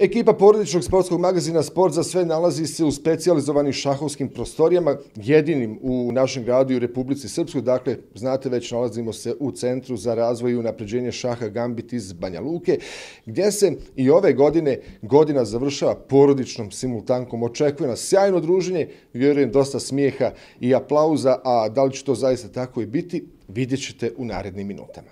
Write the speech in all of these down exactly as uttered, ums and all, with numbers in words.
Ekipa porodičnog sportskog magazina Sport za sve nalazi se u specijalizovanim šahovskim prostorijama, jedinim u našem gradu i u Republici Srpskoj. Dakle, znate, već nalazimo se u Centru za razvoj i unapređenje šaha Gambit iz Banja Luke, gdje se i ove godine godina završava porodičnom simultankom. Očekuje nas sjajno druženje, vjerujem dosta smijeha i aplauza, a da li će to zaista tako i biti, vidjet ćete u narednim minutama.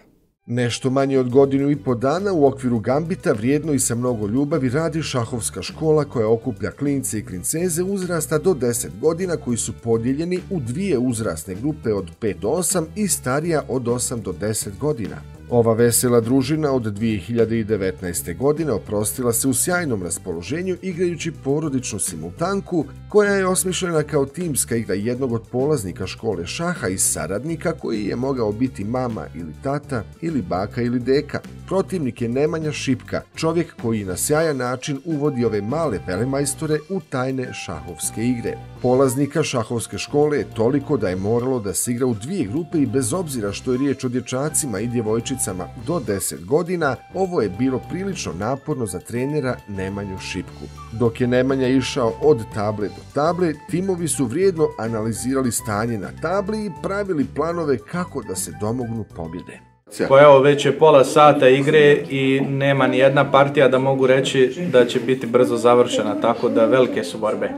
Nešto manje od godinu i po dana u okviru Gambita vrijedno i sa mnogo ljubavi radi šahovska škola koja okuplja klince i klinceze uzrasta do deset godina koji su podijeljeni u dvije uzrasne grupe od pet do osam i starija od osam do deset godina. Ova vesela družina od dvije hiljade devetnaeste. godine oprostila se u sjajnom raspoloženju igrajući porodičnu simultanku koja je osmišljena kao timska igra jednog od polaznika škole šaha i saradnika koji je mogao biti mama ili tata ili baka ili deka. Protivnik je Nemanja Šipka, čovjek koji na sjajan način uvodi ove male velemajstore u tajne šahovske igre. Polaznika šahovske škole je toliko da je moralo da se igra u dvije grupe i bez obzira što je riječ o dječacima i djevojčicama do deset godina, ovo je bilo prilično naporno za trenera Nemanju Šipku. Dok je Nemanja išao od table do table, timovi su vrijedno analizirali stanje na tabli i pravili planove kako da se domognu pobjede. Pa evo, već je pola sata igre i nema ni jedna partija da mogu reći da će biti brzo završena, tako da velike su borbe.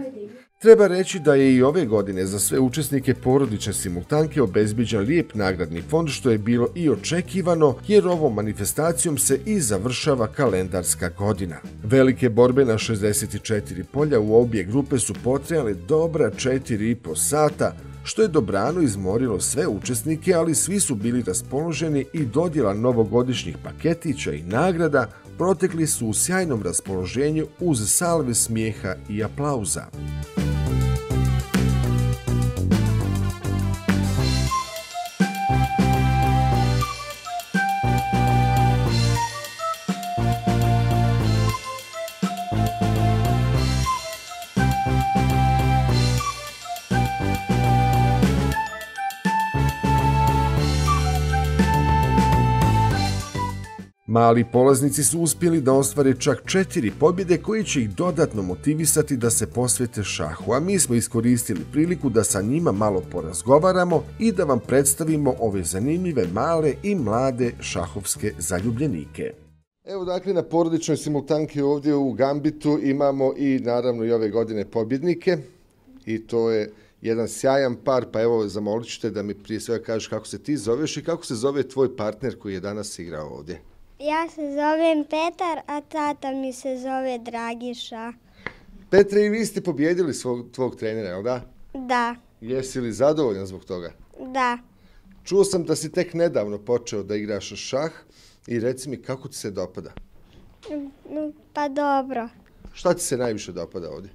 Treba reći da je i ove godine za sve učesnike porodične simultanke obezbiđen lijep nagradni fond, što je bilo i očekivano, jer ovom manifestacijom se i završava kalendarska godina. Velike borbe na šezdeset četiri polja u obje grupe su potrajale dobra četiri i po sata, što je dobrano izmorilo sve učesnike, ali svi su bili raspoloženi i dodjela novogodišnjih paketića i nagrada protekli su u sjajnom raspoloženju uz salve smijeha i aplauza. Mali polaznici su uspjeli da ostvare čak četiri pobjede koji će ih dodatno motivisati da se posvete šahu, a mi smo iskoristili priliku da sa njima malo porazgovaramo i da vam predstavimo ove zanimljive male i mlade šahovske zaljubljenike. Evo, dakle, na porodičnoj simultanki ovdje u Gambitu imamo i naravno i ove godine pobjednike i to je jedan sjajan par, pa evo zamolit ću te da mi prije svega kažeš kako se ti zoveš i kako se zove tvoj partner koji je danas igrao ovdje. Ja se zovem Petar, a tata mi se zove Dragiša. Petre, i vi ste pobjedili svog, tvog trenera, jel da? Da. Jesi li zadovoljan zbog toga? Da. Čuo sam da si tek nedavno počeo da igraš šah i reci mi kako ti se dopada? Pa dobro. Šta ti se najviše dopada ovdje?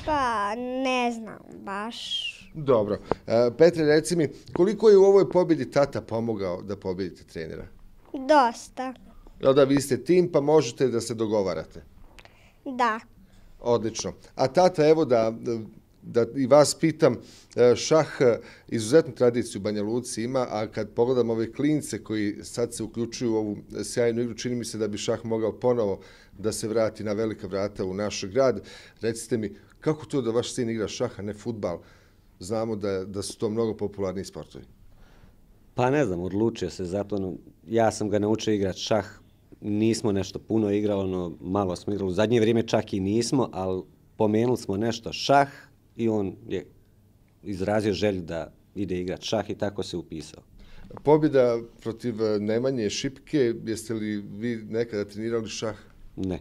Pa ne znam baš. Dobro. Petre, reci mi, koliko je u ovoj pobjedi tata pomogao da pobjedite trenera? Dosta. Jel da, vi ste tim pa možete da se dogovarate? Da. Odlično. A tata, evo da, da i vas pitam, šah izuzetnu tradiciju u Banja Luci ima, a kad pogledam ove klince koji sad se uključuju u ovu sjajnu igru, čini mi se da bi šah mogao ponovo da se vrati na velika vrata u naš grad. Recite mi, kako to da vaš sin igra šah, a ne fudbal? Znamo da, da su to mnogo popularni sportovi. Pa ne znam, odlučio se zato, ja sam ga naučio igrati šah, nismo nešto puno igrali, ono, malo smo igrali, u zadnje vrijeme čak i nismo, ali pomenuli smo nešto šah i on je izrazio želju da ide igrati šah i tako se upisao. Pobjeda protiv Nemanje Šipke, jeste li vi nekada trenirali šah? Ne.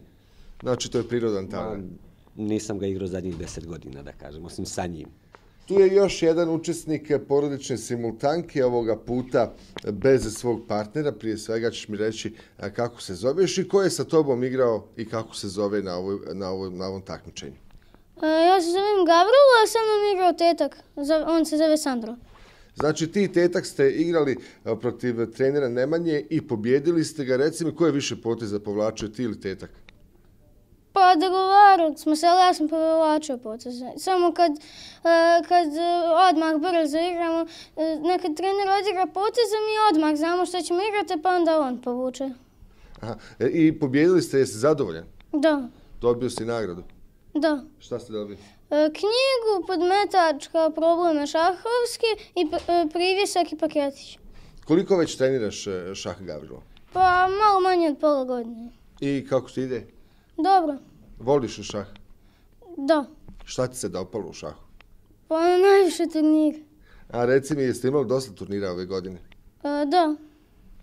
Znači to je prirodan talent? Nisam ga igrao zadnjih deset godina, da kažem, osim sa njim. Tu je još jedan učesnik porodične simultanke, ovoga puta bez svog partnera. Prije svega ćeš mi reći kako se zoveš i ko je sa tobom igrao i kako se zove na, ovoj, na, ovoj, na ovom takmičenju. Ja se zovem Gavrilo, a sa mnom igrao tetak. On se zove Sandro. Znači ti tetak ste igrali protiv trenera Nemanje i pobjedili ste ga. Reci mi, ko je više poteza povlačio, ti ili tetak? Pa dogovarali smo se, ali ja sam povlačio poteze. Samo kad, kad odmah brzo igramo, nekad trener odigra poteze, mi odmah znamo što ćemo igrati, pa onda on povuče. Aha. I pobjedili ste, jesi zadovoljan? Da. Dobio si nagradu? Da. Šta ste dobili? E, knjigu, podmetač kao probleme šahovski i privjesak i paketić. Koliko već treniraš šah, Gavrilo? Pa malo manje od pola godine. I kako ti ide? Dobro. Voliš li šah? Da. Šta ti se dopalo u šahu? Pa najviše turnira. A reci mi, jeste imali dosta turnira ove godine? E, da.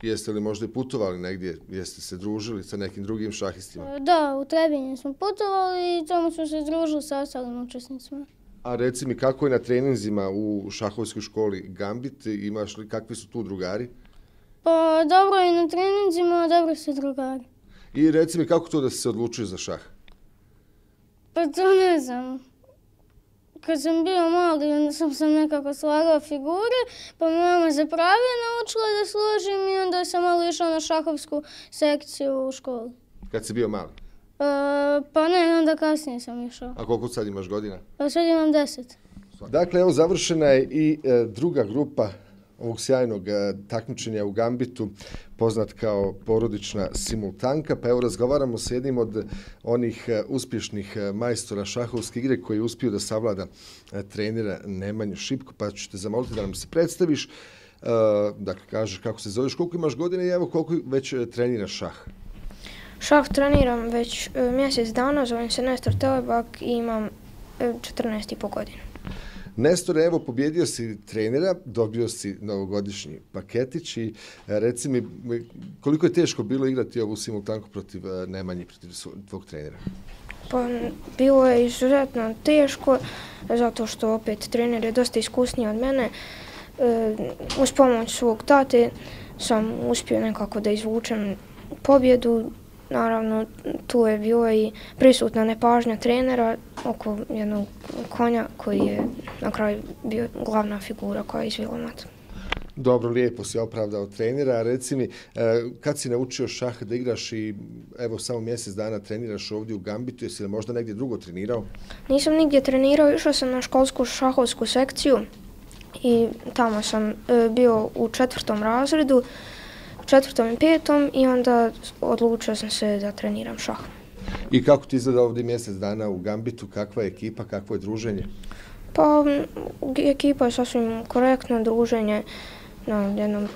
Jeste li možda i putovali negdje? Jeste se družili sa nekim drugim šahistima? E, da, u Trebinje smo putovali i tamo smo se družili sa ostalim učesnicima. A reci mi, kako je na treninzima u šahovskoj školi Gambit? Imaš li, kakvi su tu drugari? Pa dobro je na treninzima, dobro su drugari. I reci mi, kako to da si se odlučio za šah? Pa to ne znam. Kad sam bio mali, onda sam sam nekako slagao figure, pa me mama za pravije naučila da složim i onda sam malo išla na šahovsku sekciju u školi. Kad si bio mali? E, pa ne, onda kasnije sam išao. A koliko sad imaš godina? Pa sad imam deset. Dakle, evo završena je i e, druga grupa ovog sjajnog e, takmičenja u Gambitu, poznat kao porodična simultanka, pa evo razgovaramo s jednim od onih e, uspješnih e, majstora šahovske igre koji je uspio da savlada e, trenera Nemanju Šipku, pa ću te zamoliti da nam se predstaviš, e, dakle kažeš kako se zoveš, koliko imaš godine i evo koliko već e, treniraš šah. Šah treniram već e, mjesec dana, zovem se Nestor Telebak i imam e, četrnaest i po godina. Nestore, evo, pobjedio si trenera, dobio si novogodišnji paketić i reci mi koliko je teško bilo igrati ovu simultanku protiv Nemanji, protiv tvog trenera? Pa bilo je izuzetno teško, zato što opet trener je dosta iskusniji od mene. E, uz pomoć svog tate sam uspio nekako da izvučem pobjedu. Naravno, tu je bilo i prisutna nepažnja trenera oko jednog konja koji je na kraju bio glavna figura koja je izvila mat. Dobro, lijepo si opravdao trenera. A reci mi, kad si naučio šah da igraš i evo samo mjesec dana treniraš ovdje u Gambitu, jesi li možda negdje drugo trenirao? Nisam nigdje trenirao, išao sam na školsku šahovsku sekciju i tamo sam bio u četvrtom razredu, četvrtom i petom i onda odlučio sam se da treniram šah. I kako ti izgleda ovdje mjesec dana u Gambitu, kakva je ekipa, kakvo je druženje? Pa ekipa je sasvim korektna, druženje, na jednom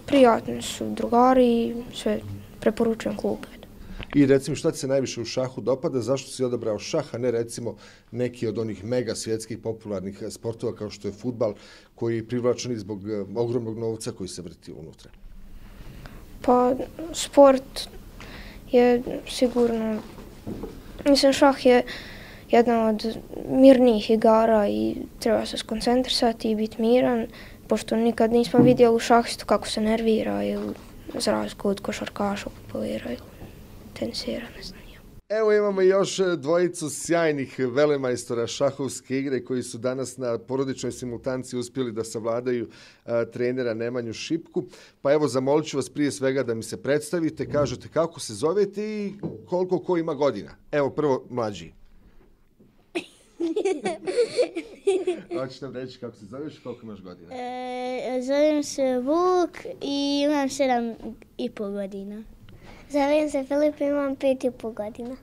prijatni su drugari i sve preporučujem klubu. I recimo šta ti se najviše u šahu dopada, zašto si odabrao šah, a ne recimo neki od onih mega svjetskih popularnih sportova kao što je fudbal koji je privlačen zbog ogromnog novca koji se vrti unutra? Pa sport je sigurno, mislim šah je jedna od mirnijih igara i treba se skoncentrisati i biti miran, pošto nikad nismo vidjeli u šahistu kako se nervira ili za razliku od košarkaša polira ili tenisera, ne znam. Evo imamo još dvojicu sjajnih velemajstora šahovske igre koji su danas na porodičnoj simultanci uspjeli da savladaju a, trenera Nemanju Šipku. Pa evo zamolit ću vas prije svega da mi se predstavite, kažete kako se zovete i koliko ko ima godina. Evo prvo mlađi. Hoćeš nam reći kako se zoveš i koliko imaš godina? E, zovem se Vuk i imam sedam i pol godina. Zovem se Filip i imam pet i pol godina.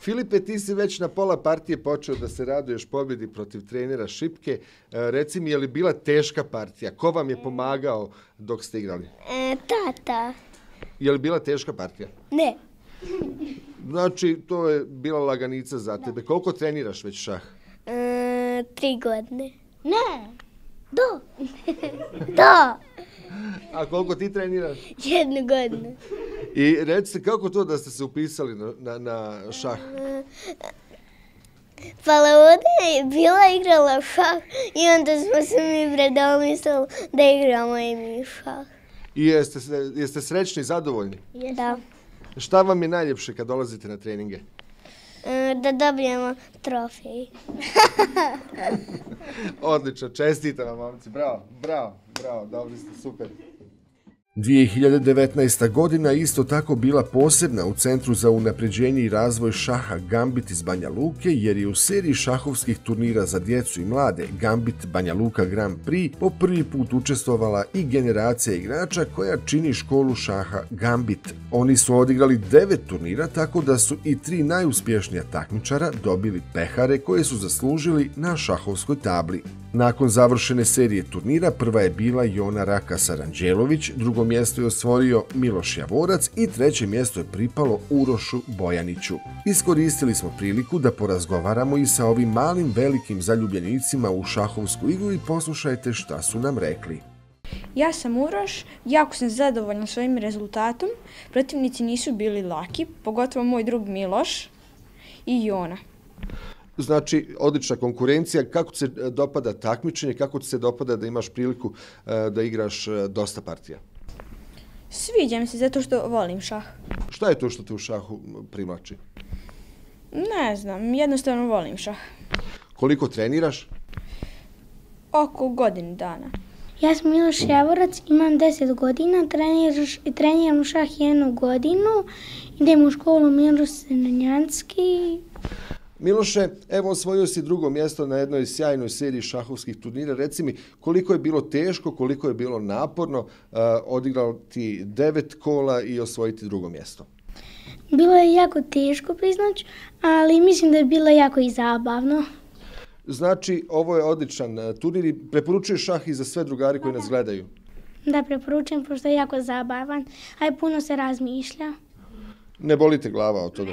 Filipe, ti si već na pola partije počeo da se raduješ pobjedi protiv trenera Šipke. E, reci mi, je li bila teška partija? Ko vam je pomagao dok ste igrali? E, tata. Je li bila teška partija? Ne. Znači, to je bila laganica za tebe. Koliko treniraš već šah? E, tri godine. Ne. Do. Do. A koliko ti treniraš? Jednu godinu. I recite, kako to da ste se upisali na, na, na šah? Pa ovdje je bila igrala šah i onda smo se mi predomislili da igramo i mi šah. I jeste, jeste srećni i zadovoljni? Da. Šta vam je najljepše kad dolazite na treninge? E, da dobijemo trofej. Odlično, čestitam vam, momci. Bravo, bravo, bravo, dobri ste, super. dvije hiljade devetnaesta. godina isto tako bila posebna u Centru za unapređenje i razvoj šaha Gambit iz Banja Luke, jer je u seriji šahovskih turnira za djecu i mlade Gambit Banja Luka Grand Prix po prvi put učestvovala i generacija igrača koja čini školu šaha Gambit. Oni su odigrali devet turnira, tako da su i tri najuspješnija takmičara dobili pehare koje su zaslužili na šahovskoj tabli. Nakon završene serije turnira prva je bila Jona Rakas Aranđelović, drugo mjesto je osvojio Miloš Javorac i treće mjesto je pripalo Urošu Bojaniću. Iskoristili smo priliku da porazgovaramo i sa ovim malim velikim zaljubljenicima u šahovsku igru i poslušajte šta su nam rekli. Ja sam Uroš, jako sam zadovoljan svojim rezultatom. Protivnici nisu bili laki, pogotovo moj drug Miloš i Jona. Znači, odlična konkurencija. Kako ti se dopada takmičenje, kako ti se dopada da imaš priliku da igraš dosta partija? Sviđa mi se zato što volim šah. Šta je to što te u šahu privlači? Ne znam, jednostavno volim šah. Koliko treniraš? Oko godinu dana. Ja sam Miloš Javorac, imam deset godina, treniram šah jednu godinu, idem u školu Miloš Senjanski. Miloše, evo osvojio si drugo mjesto na jednoj sjajnoj seriji šahovskih turnira. Reci mi, koliko je bilo teško, koliko je bilo naporno uh, odigrao ti devet kola i osvojiti drugo mjesto? Bilo je jako teško, priznać, ali mislim da je bilo jako i zabavno. Znači, ovo je odličan turnir i preporučuješ šah i za sve drugari koji nas gledaju? Da, preporučujem, pošto je jako zabavan, a i puno se razmišlja. Ne boli te glava od toga?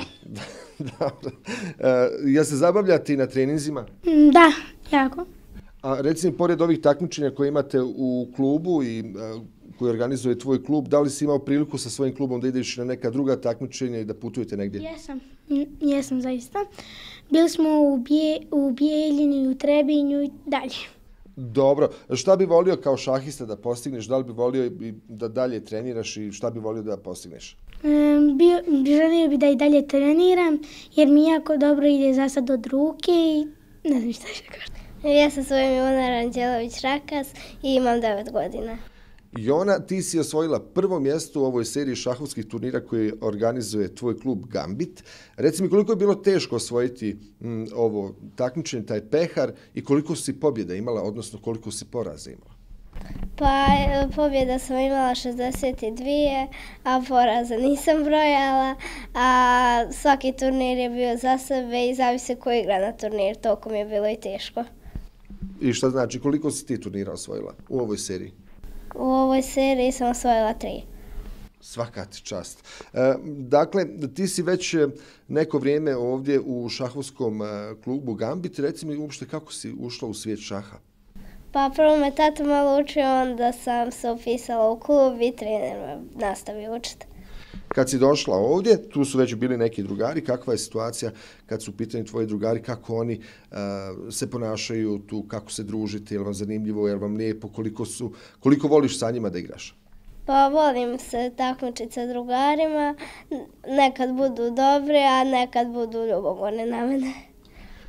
Dobro. E, ja se zabavljate i na treninzima? Da, jako. A reci mi, pored ovih takmičenja koje imate u klubu i a, koji organizuje tvoj klub, da li si imao priliku sa svojim klubom da ideš na neka druga takmičenja i da putujete negdje? Jesam, jesam zaista. Bili smo u, Bje, u Bijeljini, u Trebinju i dalje. Dobro. Šta bi volio kao šahista da postigneš? Da li bi volio da dalje treniraš i šta bi volio da postigneš? Um, bio, želio bi da i dalje treniram, jer mi jako dobro ide za sad od ruke i ne znam šta će kažem. Ja sam svojim Jona Aranđelović Rakas i imam devet godina. Jona, ti si osvojila prvo mjesto u ovoj seriji šahovskih turnira koji organizuje tvoj klub Gambit. Reci mi, koliko je bilo teško osvojiti m, ovo takmičenje, taj pehar, i koliko si pobjeda imala, odnosno koliko si poraza imala? Pa pobjeda sam imala šezdeset dvije, a poraza nisam brojala, a svaki turnir je bio za sebe i zavisi ko igra na turnir, toliko mi je bilo i teško. I šta znači, koliko si ti turnira osvojila u ovoj seriji? U ovoj seriji sam osvojila tri. Svaka ti čast. E, dakle, ti si već neko vrijeme ovdje u šahovskom klubu Gambit. Reci mi uopšte kako si ušla u svijet šaha? Pa prvo me tata malo učio, onda sam se upisala u klub i trener me nastavio učiti. Kad si došla ovdje, tu su već bili neki drugari. Kakva je situacija kad su u pitanju tvoji drugari, kako oni uh, se ponašaju tu, kako se družite, je li vam zanimljivo, je li vam lijepo, koliko, su, koliko voliš sa njima da igraš? Pa volim se takmičiti sa drugarima, nekad budu dobri, a nekad budu ljubomorni na mene.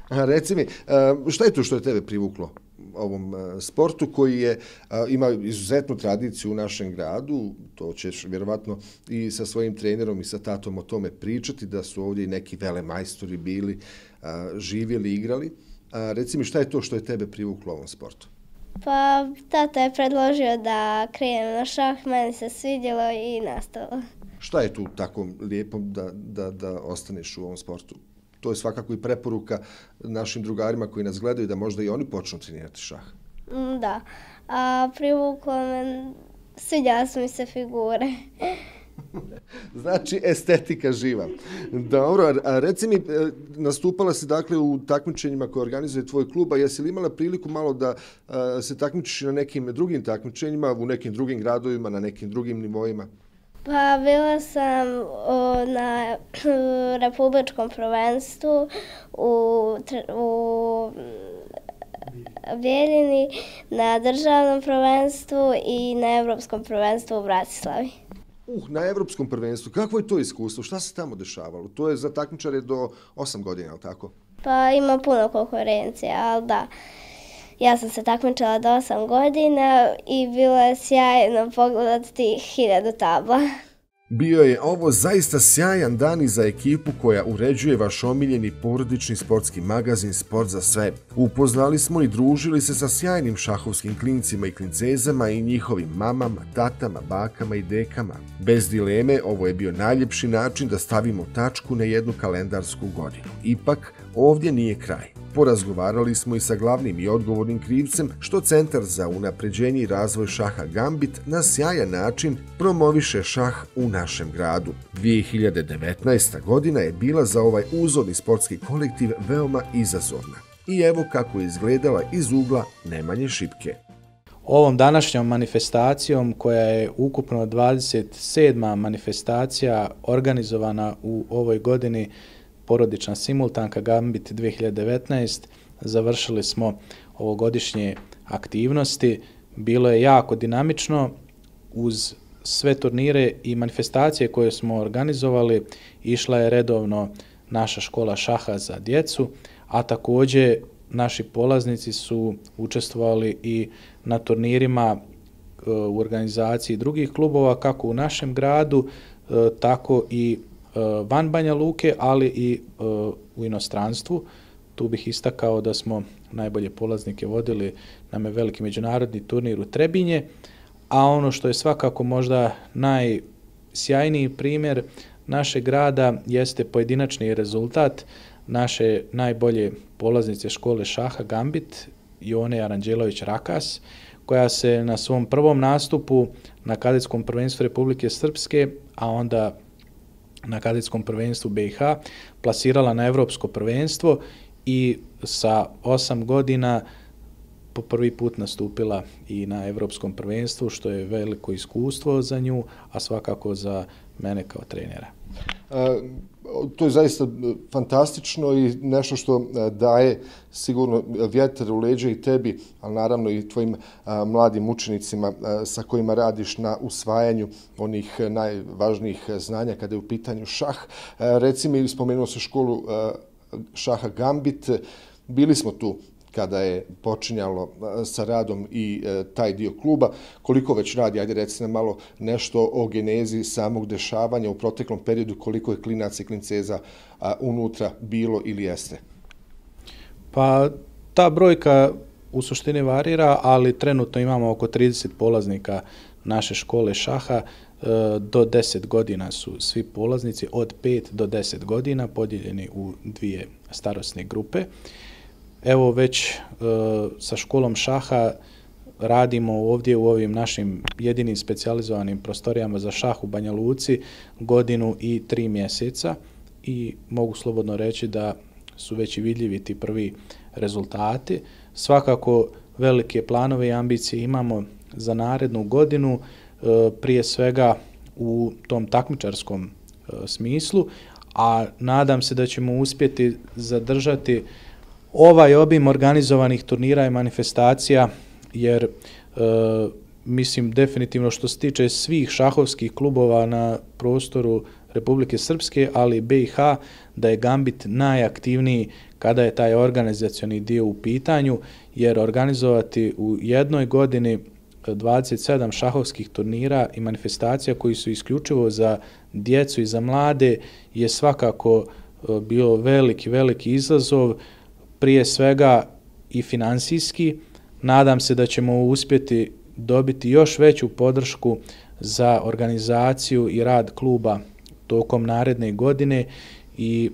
A, reci mi, uh, šta je to što je tebe privuklo ovom uh, sportu koji je, uh, ima izuzetnu tradiciju u našem gradu? To ćeš vjerovatno i sa svojim trenerom i sa tatom o tome pričati, da su ovdje i neki velemajstori bili, uh, živjeli, igrali. Uh, reci mi, šta je to što je tebe privuklo ovom sportu? Pa tata je predložio da krenem na šah, meni se svidjelo i nastavilo. Šta je tu tako lijepo da, da, da ostaneš u ovom sportu? To je svakako i preporuka našim drugarima koji nas gledaju da možda i oni počnu trenirati šah. Da, a privuklo me, svidjela su mi se figure. Znači, estetika živa. Dobro, a reci mi, nastupala si dakle u takmičenjima koje organizuje tvoj klub, a jesi li imala priliku malo da a, se takmičiš na nekim drugim takmičenjima, u nekim drugim gradovima, na nekim drugim nivoima? Pa bila sam o, na republičkom prvenstvu u, u Bijeljini, na državnom prvenstvu i na evropskom prvenstvu u Bratislavi. Uh, na evropskom prvenstvu. Kakvo je to iskustvo? Šta se tamo dešavalo? To je za takmičare do osam godina, ali tako? Pa ima puno konkurencije, ali da. Ja sam se takmičila do osam godina i bilo je sjajno pogledati tih hiljadu tabla. Bio je ovo zaista sjajan dan i za ekipu koja uređuje vaš omiljeni porodični sportski magazin Sport za sve. Upoznali smo i družili se sa sjajnim šahovskim klincima i klincezama i njihovim mamama, tatama, bakama i dekama. Bez dileme, ovo je bio najljepši način da stavimo tačku na jednu kalendarsku godinu. Ipak, ovdje nije kraj. Porazgovarali smo i sa glavnim i odgovornim krivcem što Centar za unapređenje i razvoj šaha Gambit na sjajan način promoviše šah u našem gradu. dvije hiljade devetnaesta. godina je bila za ovaj uzorni sportski kolektiv veoma izazovna. I evo kako je izgledala iz ugla Nemanje Šipke. Ovom današnjom manifestacijom, koja je ukupno dvadeset sedma manifestacija organizovana u ovoj godini, porodična simultanka Gambit dvije hiljade devetnaest, završili smo ovogodišnje aktivnosti. Bilo je jako dinamično. Uz sve turnire i manifestacije koje smo organizovali, išla je redovno naša škola šaha za djecu, a također naši polaznici su učestvovali i na turnirima u organizaciji drugih klubova, kako u našem gradu, tako i van Banja Luke, ali i u inostranstvu. Tu bih istakao da smo najbolje polaznike vodili na veliki međunarodni turnir u Trebinje, a ono što je svakako možda najsjajniji primjer našeg grada jeste pojedinačni rezultat naše najbolje polaznice škole šaha Gambit, Jone Aranđelović Rakas, koja se na svom prvom nastupu na kadetskom prvenstvu Republike Srpske, a onda na kadetskom prvenstvu B i H, plasirala na evropsko prvenstvo i sa osam godina po prvi put nastupila i na evropskom prvenstvu, što je veliko iskustvo za nju, a svakako za mene kao trenera. To je zaista fantastično i nešto što daje sigurno vjetar u leđa i tebi, ali naravno i tvojim mladim učenicima sa kojima radiš na usvajanju onih najvažnijih znanja kada je u pitanju šah. Reci mi, spomenuo se školu šaha Gambit, bili smo tu kada je počinjalo sa radom i taj dio kluba. Koliko već radi, ajde reci nam malo nešto o genezi samog dešavanja u proteklom periodu, koliko je klinaca i klinceza unutra bilo ili jeste? Pa ta brojka u suštini varira, ali trenutno imamo oko trideset polaznika naše škole šaha. Do deset godina su svi polaznici, od pet do deset godina, podijeljeni u dvije starosne grupe. Evo već e, sa školom šaha radimo ovdje u ovim našim jedinim specijalizovanim prostorijama za šah u Banja Luci godinu i tri mjeseca i mogu slobodno reći da su već i vidljivi ti prvi rezultati. Svakako velike planove i ambicije imamo za narednu godinu, e, prije svega u tom takmičarskom e, smislu, a nadam se da ćemo uspjeti zadržati ovaj obim organizovanih turnira i manifestacija, jer e, mislim definitivno što se tiče svih šahovskih klubova na prostoru Republike Srpske, ali i B i H, da je Gambit najaktivniji kada je taj organizacioni dio u pitanju, jer organizovati u jednoj godini dvadeset sedam šahovskih turnira i manifestacija koji su isključivo za djecu i za mlade je svakako bio veliki, veliki izazov, prije svega i finansijski. Nadam se da ćemo uspjeti dobiti još veću podršku za organizaciju i rad kluba tokom naredne godine i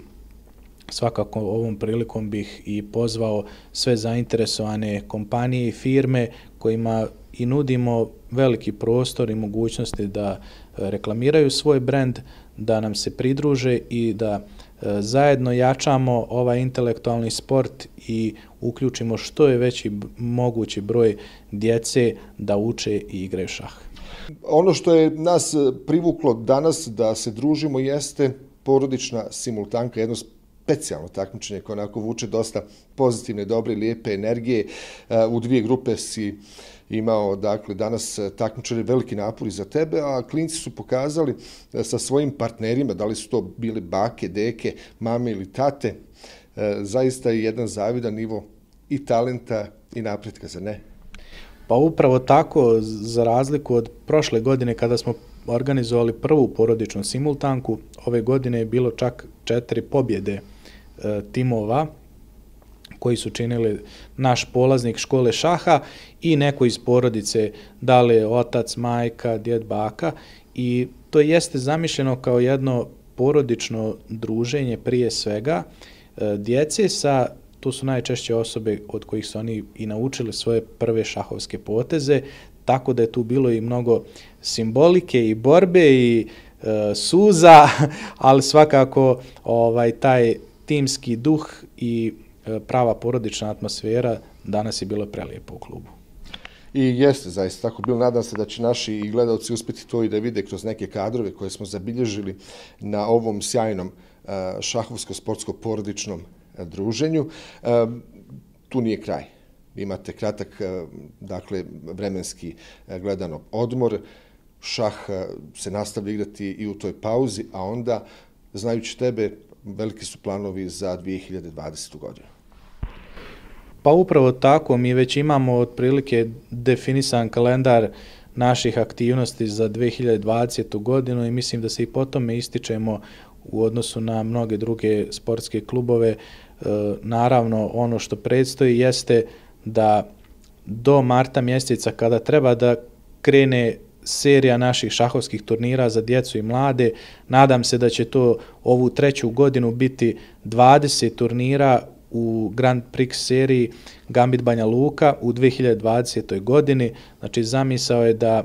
svakako ovom prilikom bih i pozvao sve zainteresovane kompanije i firme kojima i nudimo veliki prostor i mogućnosti da reklamiraju svoj brend, da nam se pridruže i da zajedno jačamo ovaj intelektualni sport i uključimo što je veći mogući broj djece da uče i igraju šah. Ono što je nas privuklo danas da se družimo jeste porodična simultanka, jedno specijalno takmičenje koje onako vuče dosta pozitivne, dobre, lijepe energije. U dvije grupe si imao, dakle, danas takmičari veliki napori za tebe, a klinci su pokazali sa svojim partnerima, da li su to bili bake, deke, mame ili tate, zaista je jedan zavidan nivo i talenta i napretka, zar ne? Pa upravo tako, za razliku od prošle godine kada smo organizovali prvu porodičnu simultanku, ove godine je bilo čak četiri pobjede e, timova koji su činili naš polaznik škole šaha i neko iz porodice, da li je otac, majka, djed, baka, i to jeste zamišljeno kao jedno porodično druženje prije svega e, djece sa, to su najčešće osobe od kojih su oni i naučili svoje prve šahovske poteze, tako da je tu bilo i mnogo simbolike i borbe i e, suza, ali svakako ovaj taj timski duh i e, prava porodična atmosfera danas je bilo prelijepo u klubu. I jeste zaista tako bilo. Nadam se da će naši i gledalci uspjeti to i da vide kroz neke kadrove koje smo zabilježili na ovom sjajnom e, šahovsko-sportsko-porodičnom e, druženju. E, tu nije kraj. Imate kratak, dakle, vremenski gledano odmor. Šah se nastavlja igrati i u toj pauzi, a onda, znajući tebe, veliki su planovi za dvije hiljade dvadesetu godinu. Pa upravo tako, mi već imamo otprilike definisan kalendar naših aktivnosti za dvije hiljade dvadesetu godinu i mislim da se i po tome ističemo u odnosu na mnoge druge sportske klubove. Naravno, ono što predstoji jeste da do marta mjeseca, kada treba da krene serija naših šahovskih turnira za djecu i mlade, nadam se da će to ovu treću godinu biti dvadeset turnira u Grand Prix seriji Gambit Banja Luka u dvije hiljade dvadesetoj godini. Znači, zamisao je da e,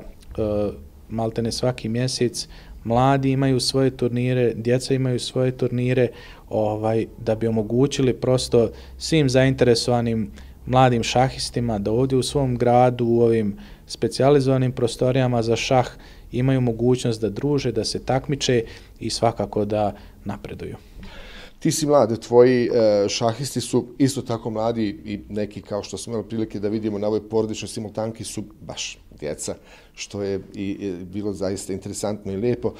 maltene svaki mjesec mladi imaju svoje turnire, djeca imaju svoje turnire, ovaj, da bi omogućili prosto svim zainteresovanim mladim šahistima da ovdje u svom gradu, u ovim specijalizovanim prostorijama za šah, imaju mogućnost da druže, da se takmiče i svakako da napreduju. Ti si mlad, tvoji šahisti su isto tako mladi i neki, kao što smo imali prilike da vidimo na ovoj porodičnoj simultanki, su baš djeca, što je i bilo zaista interesantno i lijepo.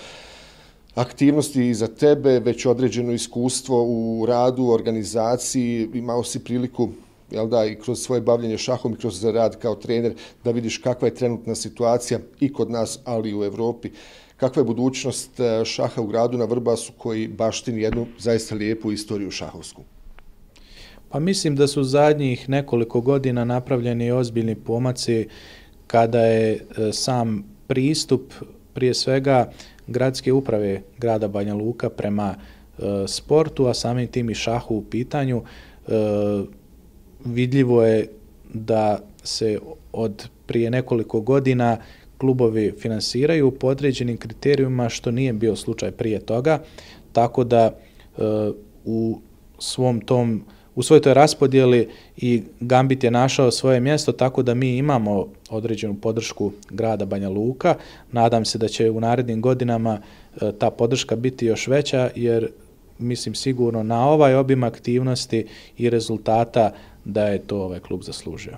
Aktivnosti i za tebe, već određeno iskustvo u radu, u organizaciji, imao si priliku, jel da, i kroz svoje bavljenje šahom i kroz rad kao trener, da vidiš kakva je trenutna situacija i kod nas, ali i u Evropi. Kakva je budućnost šaha u gradu na Vrbasu koji baštini jednu zaista lijepu istoriju šahovsku? Pa mislim da su zadnjih nekoliko godina napravljeni ozbiljni pomaci kada je sam pristup prije svega gradske uprave grada Banja Luka prema e, sportu, a samim tim i šahu u pitanju. E, vidljivo je da se od prije nekoliko godina klubovi finansiraju po određenim kriterijima, što nije bio slučaj prije toga, tako da e, u svom tom, u svojoj toj raspodjeli i Gambit je našao svoje mjesto, tako da mi imamo određenu podršku grada Banja Luka. Nadam se da će u narednim godinama e, ta podrška biti još veća, jer mislim sigurno na ovaj obim aktivnosti i rezultata da je to ovaj klub zaslužio.